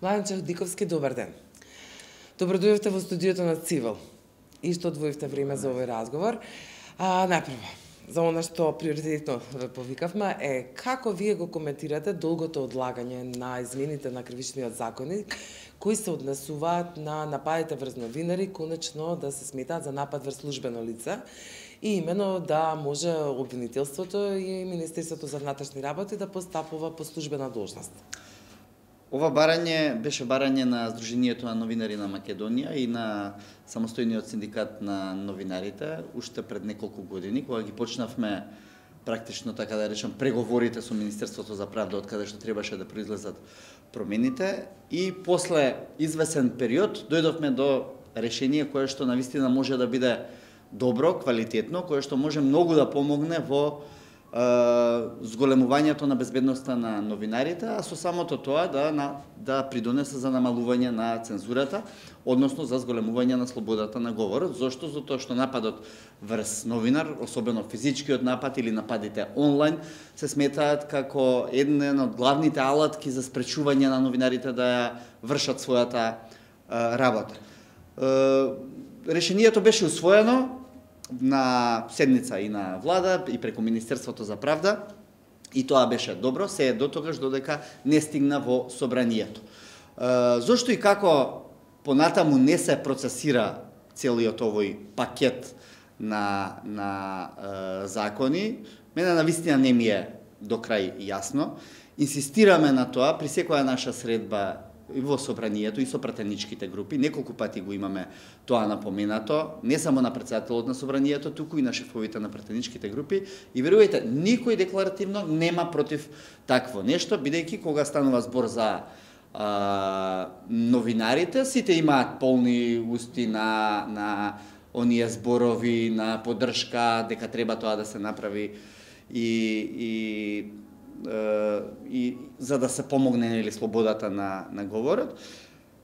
Младен Чаудиковски, добар ден. Добро дојдовте во студиото на Цивил и што одвоивте време за овој разговор. Најпрво, за она што приоритетно ве повикавме е како вие го коментирате долгото одлагање на измените на кривичниот законник кои се однесуваат на нападите врз новинари, конечно да се сметаат за напад врз службено лице и имено да може обвинителството и Министерството за внатрешни работи да постапува по службена должност. Ова барање беше барање на Сдруженијето на новинари на Македонија и на самостојниот синдикат на новинарите уште пред неколку години, кога ги почнавме практично, така да речам, преговорите со Министерството за правда, од каде што требаше да произлезат промените, и после извесен период дојдовме до решение кое што навистина може да биде добро, квалитетно, кое што може многу да помогне во зголемувањето на безбедноста на новинарите, а со самото тоа да придонесе за намалување на цензурата, односно за зголемување на слободата на говорот. Зошто? Затоа што нападот врз новинар, особено физичкиот напад или нападите онлайн, се сметаат како еден од главните алатки за спречување на новинарите да ја вршат својата работа. Решението беше усвоено на седница и на влада и преку Министерството за правда, и тоа беше добро, се е дотогаш додека не стигна во собранието. Зошто и како понатаму не се процесира целиот овој пакет на закони, мене навистина не ми е до крај јасно. Инсистираме на тоа при секоја наша средба и во собранието и со пратеничките групи, неколку пати го имаме тоа напоменато, не само на председателот на собранието, туку и на шефовите на пратеничките групи, и верувајте, никој декларативно нема против такво нешто, бидејќи кога станува збор за новинарите, сите имаат полни усти на оние зборови, на поддршка, дека треба тоа да се направи и за да се помогне или слободата на говорот.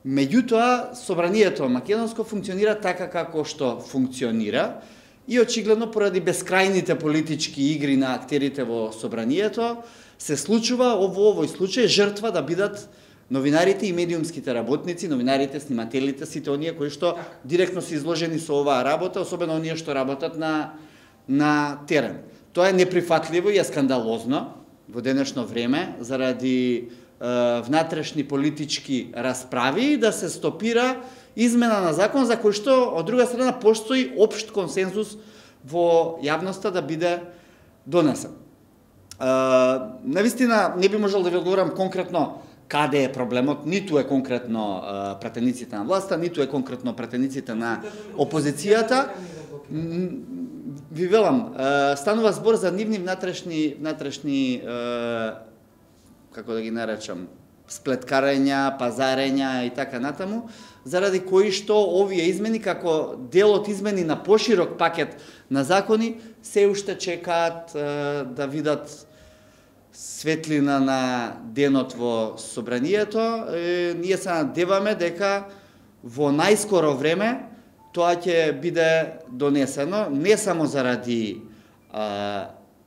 Меѓутоа, собранието македонско функционира така како што функционира и очигледно поради бескрајните политички игри на актерите во собранието се случува во овој случај жртва да бидат новинарите и медиумските работници, новинарите, снимателите, сите оние кои што директно се изложени со оваа работа, особено оние што работат на терен. Тоа е неприфатливо и е скандалозно во денешно време, заради внатрешни политички расправи, да се стопира измена на закон за кој што, од друга страна, постои општ консензус во јавноста да биде донесен. Навистина, не би можел да ви одговорам конкретно каде е проблемот, ниту е конкретно пратениците на власта, ниту е конкретно пратениците на опозицијата. Ви велам, станува збор за нивни внатрешни како да ги наречам, сплеткарења, пазарења и така натаму, заради кои што овие измени, како дел од измени на поширок пакет на закони, се уште чекаат да видат светлина на денот во собранието. Ние се надеваме дека во најскоро време тоа ќе биде донесено не само заради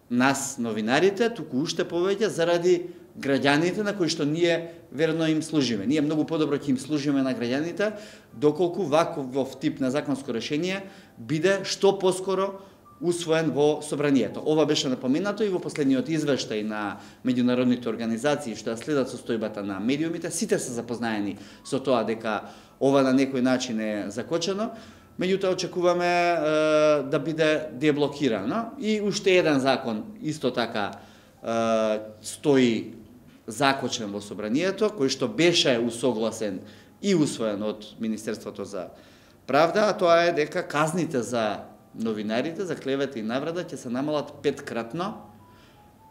нас новинарите, туку уште повеќе заради граѓаните на кои што ние верно им служиме. Ние многу подобро ќе им служиме на граѓаните доколку ваков тип на законско решение биде што поскоро усвоен во собранието. Ова беше напоменато и во последниот извештај на меѓународните организации што ја следат состојбата на медиумите. Сите се запознаени со тоа дека ова на некој начин е закочено, меѓутоа очекуваме да биде деблокирано. И уште еден закон исто така стои закочен во собранието, кој што беше усогласен и усвоен од Министерството за правда, а тоа е дека казните за новинарите, за клевета и навреда ќе се намалат 5-кратно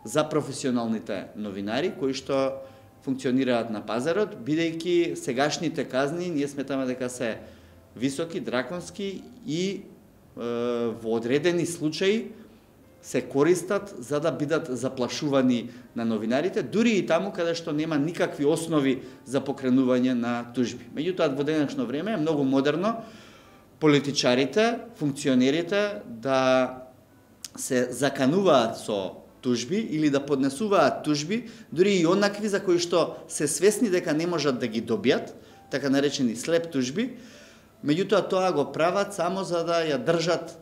за професионалните новинари кои што функционираат на пазарот, бидејќи сегашните казни ние сметаме дека се високи, драконски и во одредени случаи се користат за да бидат заплашувани на новинарите, дури и таму каде што нема никакви основи за покренување на тужби. Меѓутоа, во денешно време е многу модерно политичарите, функционерите да се закануваат со тужби или да поднесуваат тужби, дури и онакви за кои што се свесни дека не можат да ги добијат, така наречени слеп тужби, меѓутоа тоа го прават само за да ја држат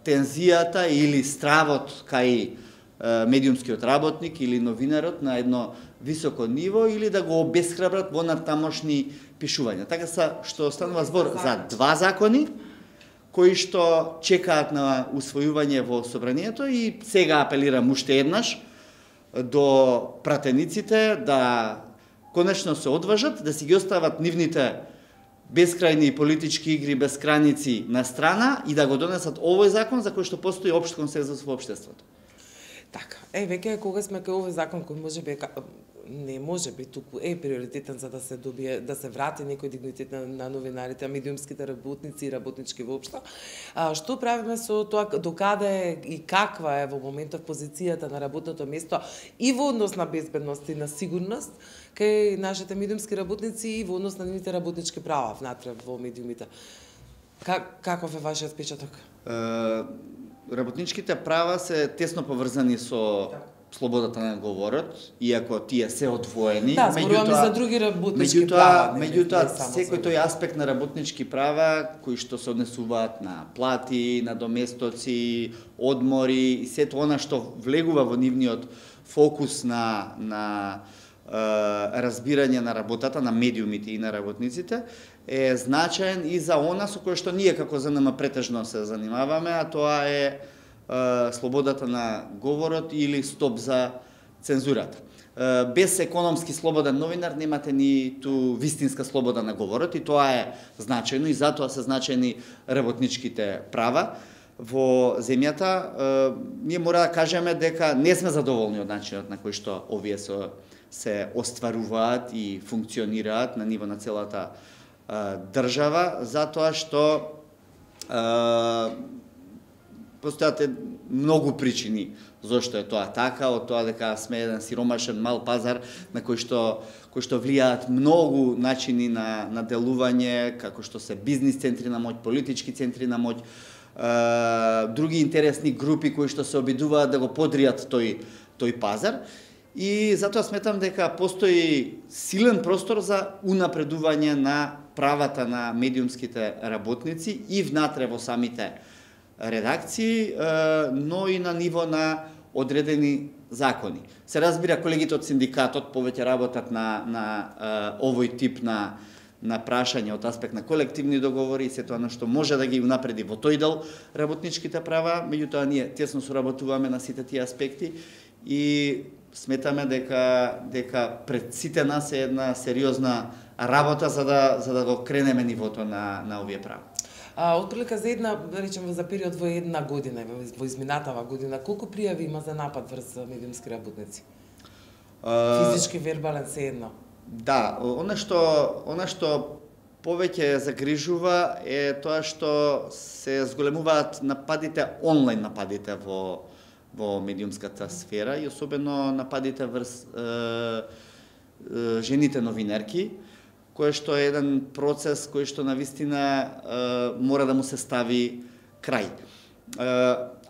тензијата или стравот кај медиумскиот работник или новинарот на едно високо ниво или да го обесхрабрат во натамошни пишувања. Така што станува збор за два закони кои што чекаат на усвојување во собранието и сега апелирам уште еднаш до пратениците да конечно се одважат, да си ги остават нивните бескрајни политички игри без граници на страна и да го донесат овој закон за кој што постои општ консензус во општеството. Така, веќе кога сме кај овој закон кој не може би туку приоритетен за да се добие, да се врати некој дигнитет на новинарите, медиумските работници и работнички воопшто. Што правиме со тоа, докаде и каква е во моментов позицијата на работното место и во однос на безбедност и на сигурност кај нашите медиумски работници и во однос на нивните работнички права внатре во медиумите? Каков е вашиот впечаток? Работничките права се тесно поврзани со слободата на говорот, иако тие се одвоени. Да, зборуваме за други работнички права. Меѓутоа, секој тој аспект на работнички права, кои што се однесуваат на плати, на доместоци, одмори, и сето она што влегува во нивниот фокус на разбирање на работата на медиумите и на работниците, е значаен и за она со кое што ние како ЗНМ претежно се занимаваме, а тоа е слободата на говорот или стоп за цензурата. Без економски слободен новинар немате ниту вистинска слобода на говорот и тоа е значајно и затоа се значајни работничките права во земјата. Ние мора да кажеме дека не сме задоволни од начинот на кој што овие се остваруваат и функционираат на ниво на целата држава, затоа што постојат многу причини зошто е тоа така, од тоа дека сме еден сиромашен мал пазар на кој што влијаат многу начини на делување, како што се бизнис центри на моќ, политички центри на моќ, други интересни групи кои што се обидуваат да го подријат тој пазар. И затоа сметам дека постои силен простор за унапредување на правата на медиумските работници и внатре во самите редакции, но и на ниво на одредени закони. Се разбира, колегите од синдикатот повеќе работат на овој тип на прашање од аспект на колективни договори и се тоа што може да ги унапреди во тој дел работничките права, меѓутоа ние тесно соработуваме на сите тие аспекти и сметаме дека пред сите нас е една сериозна работа за да го кренеме нивото на овие права. Отприлика за една, да речеме, за период во една година, во изминатава година, колку пријави има за напад врз медиумски работници? Физички, вербален, се едно? Да, она што повеќе загрижува е тоа што се зголемуваат нападите, онлайн нападите во медиумската сфера и особено нападите врз жените новинарки, кој што е еден процес кој што навистина мора да му се стави крај.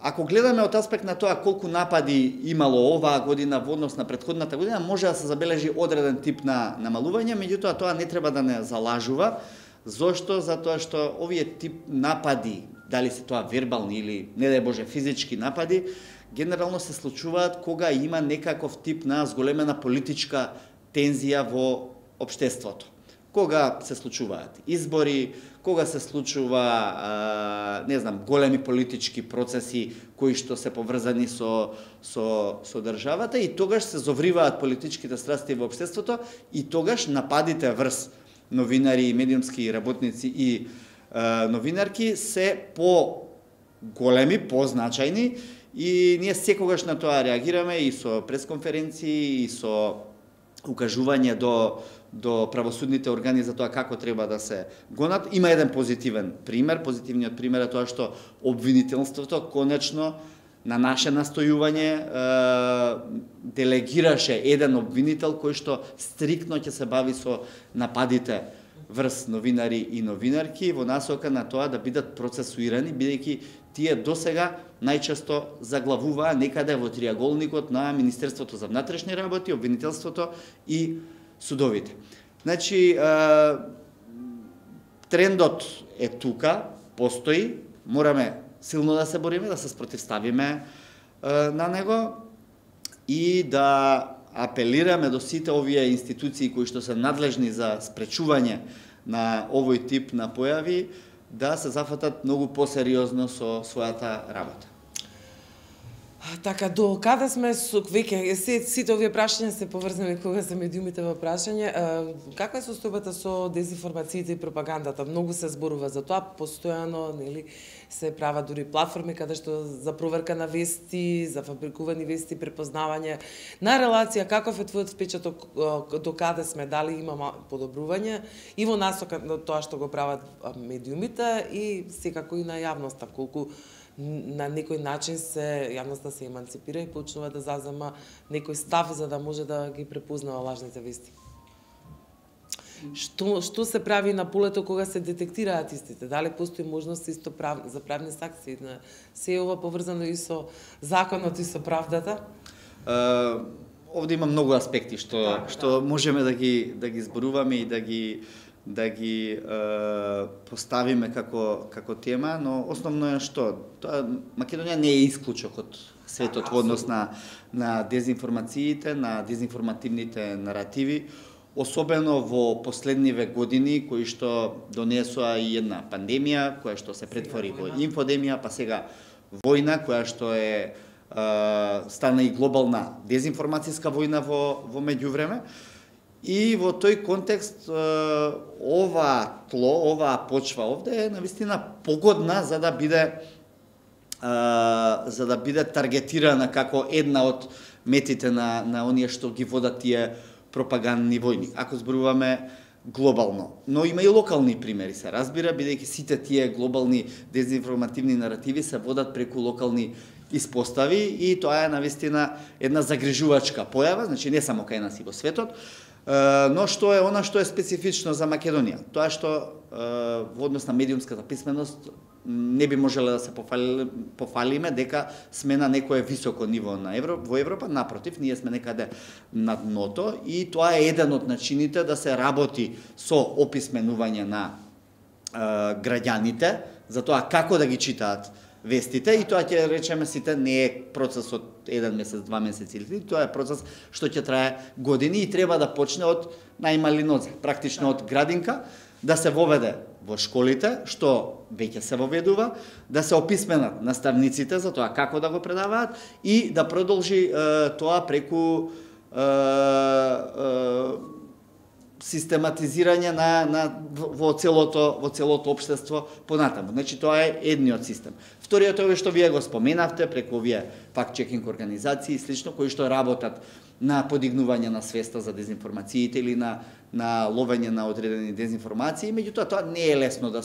Ако гледаме од аспект на тоа колку напади имало оваа година во однос на претходната година, може да се забележи одреден тип на намалување, меѓутоа тоа не треба да не залажува. Зошто? Затоа што овие тип напади, дали се тоа вербални или, не дај Боже, физички напади, генерално се случуваат кога има некаков тип на зголемена политичка тензија во општеството. Кога се случуваат избори, кога се случува, големи политички процеси кои што се поврзани со државата и тогаш се зовриваат политичките страсти во општеството и тогаш нападите врз новинари, медиумски работници и новинарки се по-големи, по-значајни и ние секогаш на тоа реагираме и со пресконференции и со укажување до правосудните органи за тоа како треба да се гонат. Има еден позитивен пример. Позитивниот пример е тоа што обвинителството конечно на наше настојување делегираше еден обвинител кој што стриктно ќе се бави со нападите врз новинари и новинарки во насока на тоа да бидат процесуирани, бидејќи тие досега најчесто заглавуваа некаде во триаголникот на Министерството за внатрешни работи, обвинителството и судовите. Значи, трендот е тука, постои, мораме силно да се бориме, да се спротивставиме на него и да апелираме до сите овие институции кои што се надлежни за спречување на овој тип на појави, да се зафатат многу посериозно со својата работа. Така, до каде сме веќе сите овие прашања се поврзани кога се медиумите во прашање. Каква е состојбата со дезинформациите и пропагандата? Многу се зборува за тоа, постојано, нели, се прават дури платформи каде што за проверка на вести, за фабрикувани вести, препознавање на релација. Каков е твојот впечаток, до каде сме, дали има подобрување и во насока на тоа што го прават медиумите и секако и на јавноста, колку на некој начин јавноста се еманципира и почнува да зазема некој став за да може да ги препознава лажните вести. Што се прави на полето кога се детектираат истите? Дали постои можност за правни санкции? Се е ова поврзано и со законот и со правдата? Овде има многу аспекти што можеме да ги зборуваме и да ги поставиме како тема, но основно е што Македонија не е исклучок од светот во однос на дезинформациите, на дезинформативните наративи, особено во последниве години кои што донесоа и една пандемија, која што се претвори во инфодемија, па сега војна која што е стана и глобална дезинформацијска војна во меѓувреме. И во тој контекст оваа почва овде е навистина погодна за да биде таргетирана како една од метите на оние што ги водат тие пропагандни војни. Ако зборуваме глобално, но има и локални примери, се разбира, бидејќи сите тие глобални дезинформативни наративи се водат преку локални испостави и тоа е навистина една загрижувачка појава, значи не само кај нас и во светот. Но што е она што е специфично за Македонија? Тоа што во однос на медиумската писменост не би можеле да се пофалиме дека сме на некое високо ниво во Европа, напротив, ние сме некаде на дното и тоа е еден од начините да се работи со описменување на граѓаните, за тоа како да ги читаат вестите и тоа ќе речеме сите не е процес од 1 месец, 2 месеци или 3, тоа е процес што ќе трае години и треба да почне од најмали нозе, практично од градинка, да се воведе во школите, што веќе се воведува, да се описменат наставниците за тоа како да го предаваат и да продолжи тоа преку систематизирање во целото општество понатаму. Значи тоа е едниот систем. Вториот е овој што вие го споменавте преку овие факт-чекинг организации и слично кои што работат на подигнување на свеста за дезинформациите или на ловење на одредени дезинформации, меѓутоа тоа не е лесно да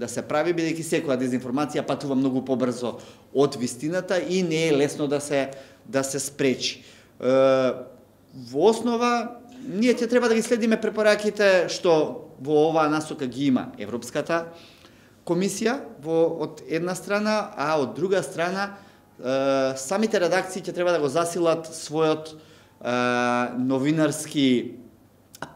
се прави бидејќи секоја дезинформација патува многу побрзо од вистината и не е лесно да се спречи. Во основа ние ќе треба да ги следиме препораките што во оваа насока ги има Европската комисија од една страна, а од друга страна самите редакции ќе треба да го засилат својот новинарски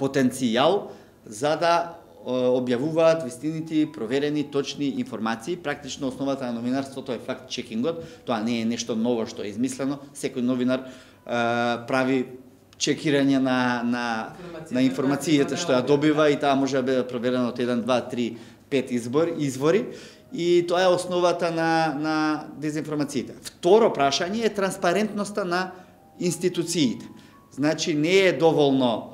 потенцијал за да објавуваат вистините, проверени, точни информации. Практично основата на новинарството е факт-чекингот. Тоа не е нешто ново што е измислено. Секој новинар прави чекирање на информацијата што ја добива и таа може да биде проверена од 1, 2, 3, 5 извори и тоа е основата на дезинформациите. Второ прашање е транспарентноста на институциите. Значи не е доволно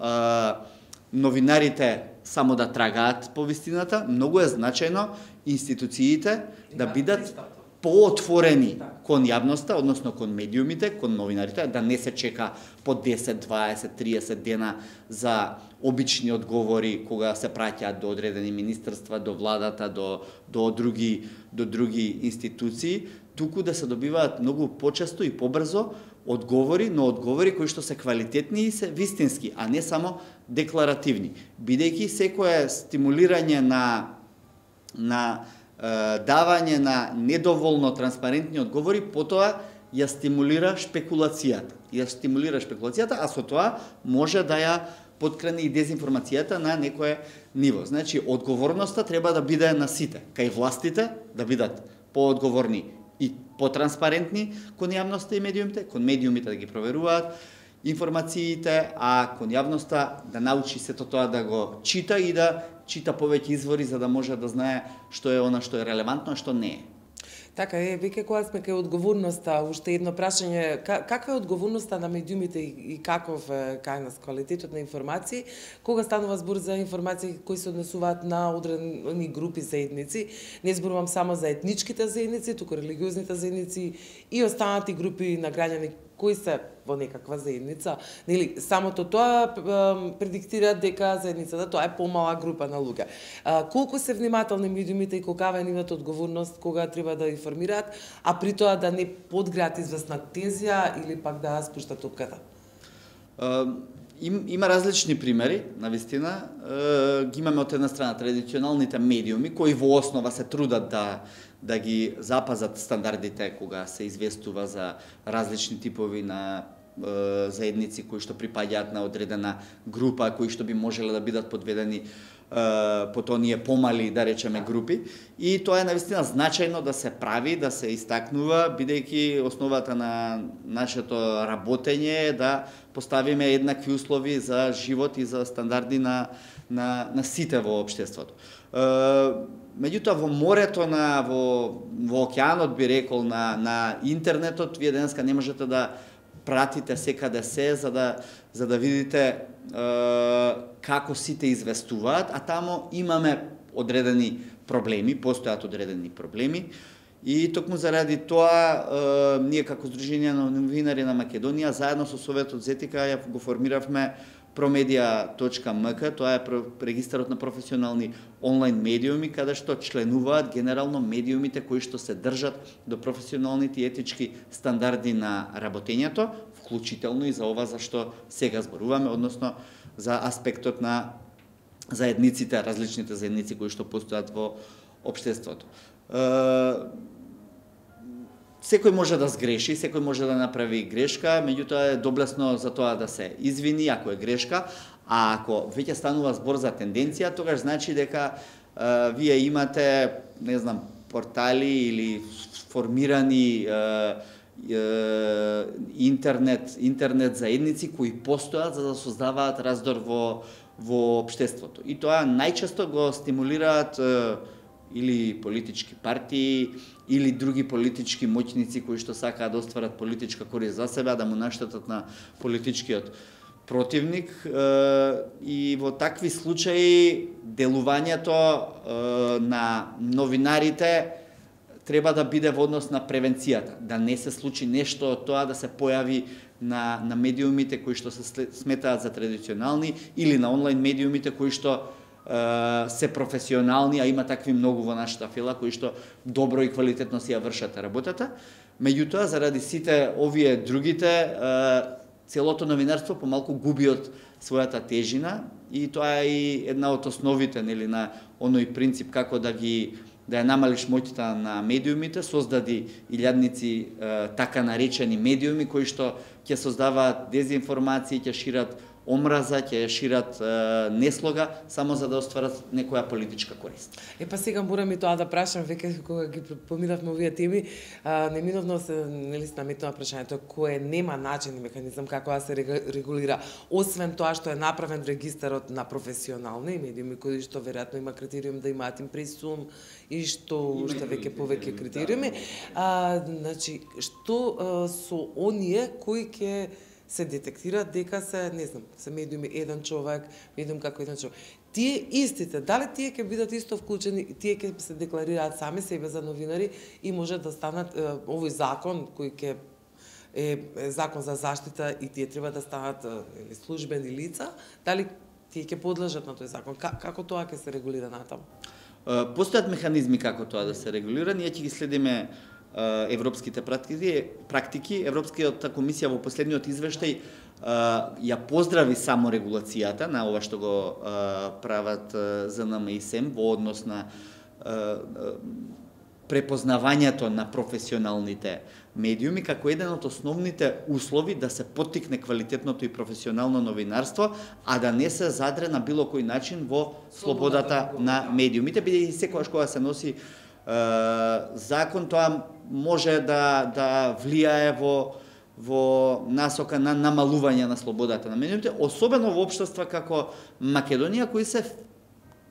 новинарите само да трагаат по вистината, многу е значајно институциите да бидат поотворени кон јавноста, односно кон медиумите, кон новинарите, да не се чека по 10, 20, 30 дена за обични одговори кога се праќаат до одредени министерства, до владата, до други институции, туку да се добиваат многу почесто и побрзо одговори, но одговори кои што се квалитетни и се вистински, а не само декларативни. Бидејќи секое стимулирање на давање на недоволно транспарентни одговори, потоа ја стимулира шпекулацијата, а со тоа може да ја подкрени и дезинформацијата на некое ниво. Значи, одговорноста треба да биде на сите, кај властите да бидат поодговорни и потранспарентни кон јавноста и медиумите, кон медиумите да ги проверуваат информациите, а кон јавноста да научи сето тоа да го чита и да чита повеќе извори за да може да знае што е она што е релевантно, а што не е. Така е, веќе кога сме кај одговорноста, уште едно прашање, каква е одговорноста на медиумите и каков е кај нас квалитетот на информации, кога станува збор за информации кои се однесуваат на одредени групи заедници, не зборувам само за етничките заедници, туку религиозните заедници и останати групи на граѓани кои се во некаква заедница, нели самото тоа предиктира дека заедницата тоа е помала група на луѓе. Колку се внимателни медиумите и колкава е нивната одговорност кога треба да информираат, а при тоа да не подграат известна тензија или пак да спуштат топката? Има различни примери, навистина. Ги имаме од една страна традиционалните медиуми кои во основа се трудат да ги запазат стандардите кога се известува за различни типови на заедници кои што припаѓаат на одредена група, кои што би можеле да бидат подведени под оние помали, да речеме, групи. И тоа е навистина значајно да се прави, да се истакнува, бидејќи основата на нашето работење е да поставиме еднакви услови за живот и за стандарди на сите во општеството. Меѓутоа, во морето, во океанот, би рекол, на интернетот, вие денеска не можете да пратите секаде се, за да видите како сите известуваат, а тамо имаме одредени проблеми, постојат одредени проблеми. И токму заради тоа, ние како Сдружение на новинари на Македонија, заедно со Советот за етика, го формиравме promedia.mk, тоа е регистарот на професионални онлайн медиуми, каде што членуваат генерално медиумите кои што се држат до професионалните и етички стандарди на работењето, вклучително и за ова за што сега зборуваме, односно за аспектот на заедниците, различните заедници кои што постојат во општеството. Секој може да сгреши, секој може да направи грешка, меѓутоа е доблесно за тоа да се извини ако е грешка, а ако веќе станува збор за тенденција, тогаш значи дека вие имате, не знам, портали или формирани интернет заедници кои постојат за да создаваат раздор во општеството. И тоа најчесто го стимулираат или политички партии, или други политички моќници кои што сакаат да остварат политичка корист за себе, да му наштетат на политичкиот противник. И во такви случаи делувањето на новинарите треба да биде во однос на превенцијата, да не се случи нешто од тоа да се појави на медиумите кои што се сметаат за традиционални или на онлайн медиумите кои што се професионални, а има такви многу во нашата фила кои што добро и квалитетно си ја вршат работата. Меѓутоа, заради сите овие другите, целото новинарство помалку губи од својата тежина и тоа е и една од основите, нели, на оној принцип како да ја намалиш моќта на медиумите, создади илјадници така наречени медиуми кои што ќе создаваат дезинформации, ќе шират омраза, ќе шират неслога, само за да остварат некоја политичка корист. Па сега морам и тоа да прашам, веќе кога ги поминавме овие теми, неминовно се наметнува прашањето кое нема начин и механизам како да се регулира, освен тоа што е направен регистарот на професионални медиуми, кои што веројатно има критериум да имаат импресум и што уште повеќе критериуми. Значи, што со оние кои ќе се детектираат дека се, не знам, се медиуми еден човек, медиум како еден човек. Тие истите, дали тие ќе бидат исто вклучени, тие ќе се декларираат сами себе за новинари и може да станат овој закон кој ќе е закон за заштита и тие треба да станат службени лица, дали тие ќе подлежат на тој закон? Како тоа ќе се регулира натаму? Постојат механизми како тоа да се регулира, ние ќе ги следиме европските практики. Европската комисија во последниот извештај ја поздрави само регулацијата на ова што го прават ЗНМ и СЕМ во однос на препознавањето на професионалните медиуми како еден од основните услови да се поттикне квалитетното и професионално новинарство, а да не се задре на било кој начин во слободата на медиумите, бидејќи секогаш кога се носи закон, тоа може да влијае во насока на намалување на слободата на медиумите, особено во општества како Македонија, кои се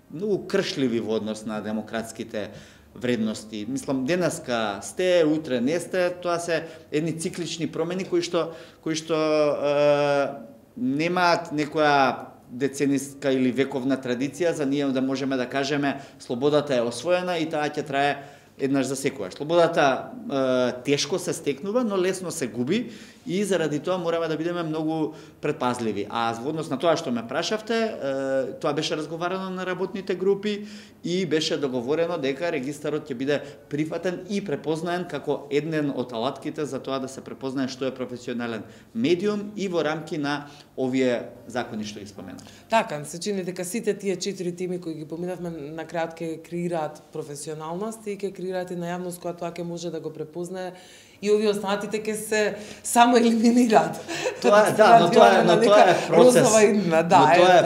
многу кршливи во однос на демократските вредности. Мислам, денеска сте, утре не сте, тоа се едни циклични промени кои што немаат некоја децениска или вековна традиција за ние да можеме да кажеме слободата е освоена и таа ќе трае еднаш за секогаш. Слободата тешко се стекнува, но лесно се губи и заради тоа мораме да бидеме многу предпазливи. А во однос на тоа што ме прашавте, тоа беше разговарано на работните групи и беше договорено дека регистарот ќе биде прифатен и препознаен како еден од алатките за тоа да се препознае што е професионален медиум и во рамки на овие закони што ги споменав. Така, се чини дека сите тие 4 теми кои ги поминавме на крајот ќе креираат професионалност и ќе креираат и на јавност која тоа ќе може да го препознае и овие останатите ќе се само елиминираат. Тоа е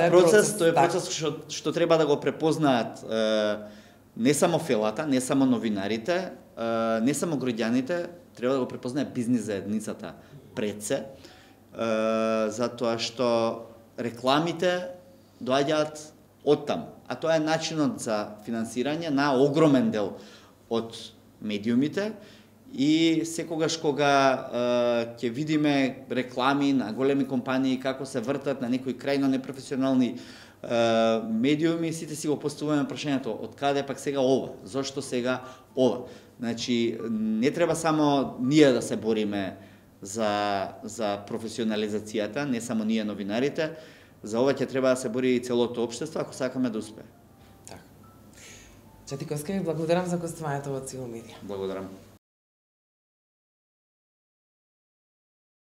процес. Тоа е процес што треба да го препознаат не само фелата, не само новинарите, не само граѓаните, треба да го препознае бизнис заедницата пред се, затоа што рекламите доаѓаат оттам, а тоа е начинот за финансирање на огромен дел од медиумите. И секогаш кога ќе видиме реклами на големи компании како се вртат на некои крајно непрофесионални медиуми, сите си го поставуваме прашањето од каде пак сега ова? Зошто сега ова? Значи, не треба само ние да се бориме за професионализацијата, не само ние новинарите, за ова ќе треба да се бори и целото општество ако сакаме да успее. Така. Четиковска, ви благодарам за гостувањето во Цивил Медија. Благодарам.